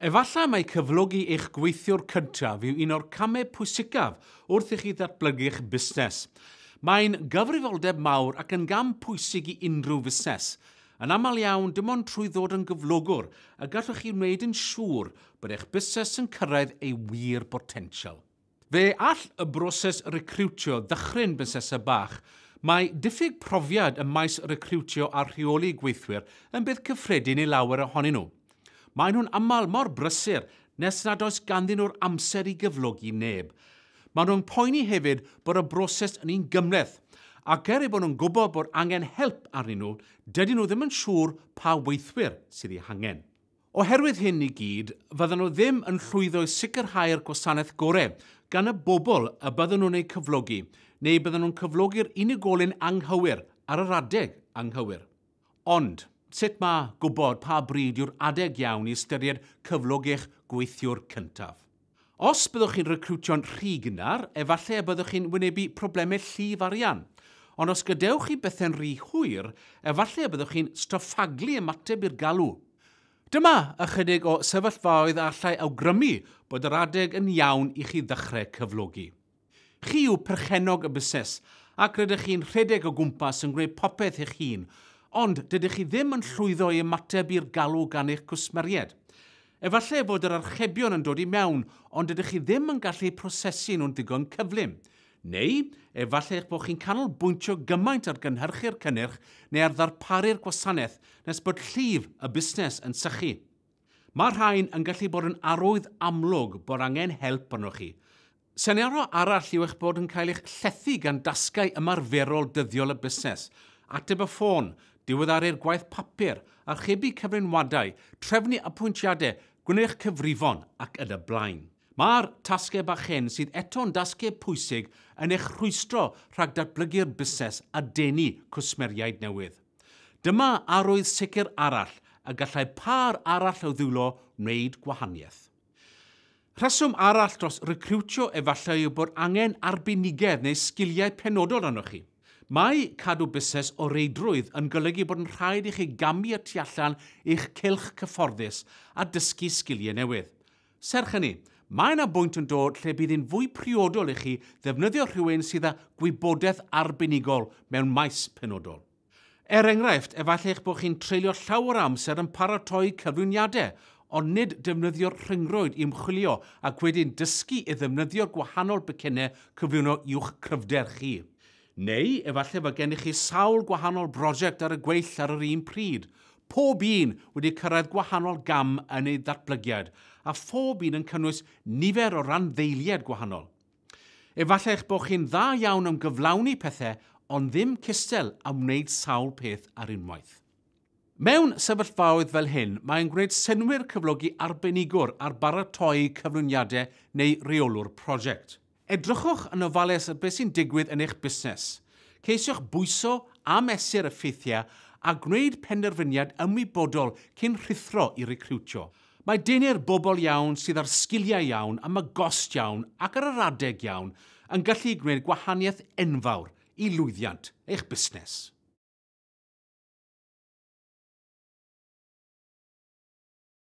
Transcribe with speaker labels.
Speaker 1: Efallai mai cyflogi eich gweithiwr cyntaf yw un o'r camau pwysicaf wrth i chi ddatblygu'ch busnes. Mae'n gyfrifoldeb mawr ac yn gam pwysig i unrhyw fusnes. Yn aml iawn, dim ond trwy ddod yn gyflogwr y gallwch chi wneud yn siŵr bod eich busnes yn cyrraedd ei wir botensial. Fe all y broses recriwtio ddychryn busnesau bach. Mae diffyg profiad ym maes recriwtio a rheoli gweithwyr yn beth cyffredin i lawer ohonyn nhw. Maen nhw'n aml mor brysur nes nad oes ganddyn nhw'r amser i gyflogi neb. Maen nhw'n poeni hefyd bod y broses yn un gymhleth, ac er eu bod nhw'n gwybod bod angen help arnyn nhw, dydyn nhw ddim yn siŵr pa weithwyr sydd eu hangen. Oherwydd hyn i gyd, fyddan nhw ddim yn llwyddo i sicrhau'r gwasanaeth gorau gan y bobl y byddan nhw'n eu cyflogi, neu byddan nhw'n cyflogi'r unigolyn anghywir ar yr adeg anghywir. Ond, sut mae gwybod pa bryd yw'r adeg iawn i ystyried cyflogi'ch gweithiwr cyntaf? Os byddwch chi'n recriwtio'n rhy gynnar, efallai y byddwch chi'n wynebu problemau llif arian. Ond os gadewch chi bethau'n rhy hwyr, efallai y byddwch chi'n straffaglu ymateb i'r galw. Dyma ychydig o sefyllfaoedd a allai awgrymu bod yr adeg yn iawn i chi ddechrau cyflogi. Chi yw perchennog y busnes, ac rydych chi'n rhedeg o gwmpas yn gwneud popeth eich hun, ond dydych chi ddim yn llwyddo i ymateb i'r galw gan eich cwsmeriaid. Efallai fod yr archebion yn dod i mewn, ond dydych chi ddim yn gallu prosesu nhw'n ddigon cyflym. Neu, efallai eich bod chi'n canolbwyntio gymaint ar gynhyrchu'r cynnyrch neu ar ddarparu'r gwasanaeth nes bod llif y busnes yn sychu. Mae'r rhain yn gallu bod yn arwydd amlwg bod angen help arnoch chi. Senario arall yw eich bod yn cael eich llethu gan dasgau ymarferol dyddiol y busnes, ateb y ffôn, diweddaru'r gwaith papur, archebu cyflenwadau, trefnu apwyntiadau, gwneud eich cyfrifon ac yn y blaen. Mae'r tasgau bach hyn sydd eto'n dasgau pwysig yn eich rhwystro rhag datblygu'r busnes a denu cwsmeriaid newydd. Dyma arwydd sicr arall y gallai pâr arall o ddwylo wneud gwahaniaeth. Rheswm arall dros recriwtio efallai yw bod angen arbenigedd neu sgiliau penodol arnoch chi. Mae cadw busnes o reidrwydd yn golygu bod yn rhaid i chi gamu y tu allan i'ch cylch cyfforddus a dysgu sgiliau newydd. Serch hynny, mae yna bwynt yn dod lle bydd hi'n fwy priodol i chi ddefnyddio rhywun sydd â gwybodaeth arbenigol mewn maes penodol. Er enghraifft, efallai eich bod chi'n treulio llawer o amser yn paratoi cyflwyniadau, ond nid defnyddio'r rhyngrwyd i ymchwilio ac wedyn dysgu i ddefnyddio'r gwahanol becynnau cyflwyno i'wch cryfder chi. Neu, efallai fod gennych chi sawl gwahanol brosiect ar y gweill ar yr un pryd, pob un wedi cyrraedd gwahanol gam yn ei ddatblygiad, a phob un yn cynnwys nifer o randdeiliaid gwahanol. Efallai eich bod chi'n dda iawn am gyflawni pethau, ond ddim cystal am wneud sawl peth ar unwaith. Mewn sefyllfaoedd fel hyn, mae'n gwneud synnwyr cyflogi arbenigwr ar baratoi cyflwyniadau neu reolwr prosiect. Edrychwch yn ofalus ar beth sy'n digwydd yn eich busnes. Ceisiwch bwyso a mesur y ffeithiau a gwneud penderfyniad ymwybodol cyn rhuthro i recriwtio. Mae denu'r bobl iawn sydd â'r sgiliau iawn am y gost iawn ac ar yr adeg iawn yn gallu gwneud gwahaniaeth enfawr i lwyddiant eich busnes.